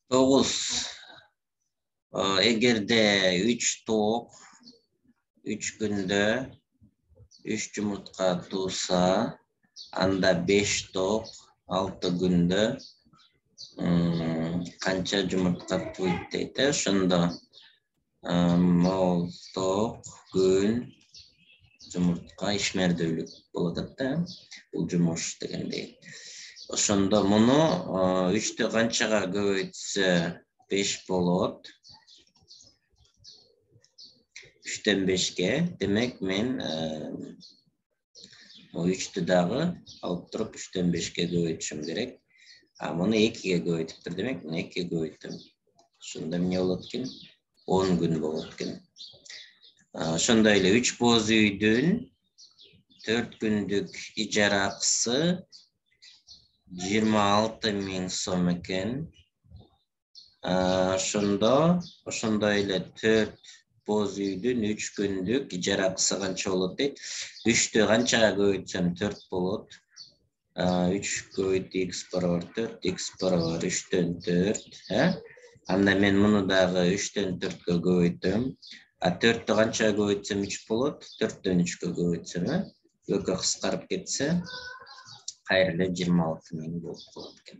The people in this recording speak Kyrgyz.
9. Эгерде 3 тоок 3 күндө 3 жумуртка тууса, анда 5 тоок 6 күндө канча жумуртка тууйт дейт. Ошондо мол, тоок, күн, жумуртка ишмердүүлүк болот да. Бул жумуш дегендей. Ошондо муну 3тү канчага көбөйтсө 5 болот. 3төн 5ке. Демек мен 3тү дагы алып туруп 3төн 5ке көбөйтүшүм керек. Муну 2ге көбөйтүптүр. Демек муну 2ге көбөйттүм. Ошондо эмне болот экен? 10 күн болот экен. Ошондой эле 3 боз үйдүн 4 күндүк ижара акысы 26.000 сом экен. Ошондой эле 4 боз үйдүн 3 күндүк ижара акысы канча болот дейт? 3тү канчага көбөйтсөм 4 болот. 3 көбөйт x барабар 4, x барабар 3төн 4. Анда мен муну дагы 3төн 4кө көбөйтөм. 4тү канчага көбөйтсөм 3 болот? 4төн 3кө көбөйтсөм, экөө кыскарып кетсе, кайра эле 26.000 болуп калат экен.